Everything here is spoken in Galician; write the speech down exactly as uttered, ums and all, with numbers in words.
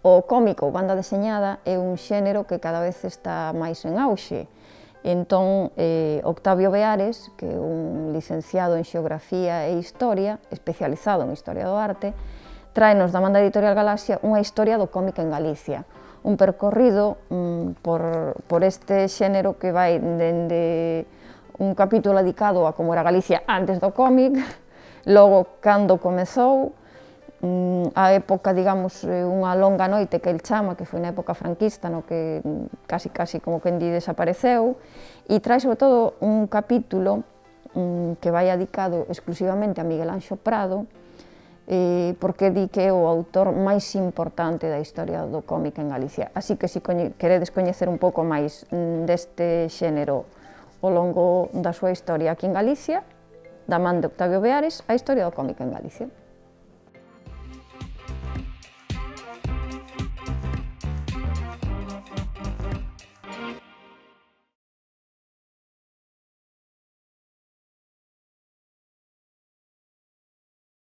O cómic ou banda deseñada é un xénero que cada vez está máis en auxe. Entón, eh, Octavio Beares, que é un licenciado en Xeografía e Historia, especializado en Historia do Arte, tráenos da Manda Editorial Galaxia unha historia do cómic en Galicia, un percorrido mm, por, por este xénero que vai dende un capítulo dedicado a como era Galicia antes do cómic, logo cando comezou, a época, digamos, unha longa noite que el chama, que foi na época franquista, no que casi, casi como quen di desapareceu, e trae sobre todo un capítulo que vai dedicado exclusivamente a Miguel Anxo Prado, eh, porque di que é o autor máis importante da historia do cómic en Galicia. Así que, se queredes coñecer un pouco máis deste xénero ao longo da súa historia aquí en Galicia, da man de Octavio Beares, a historia do cómic en Galicia.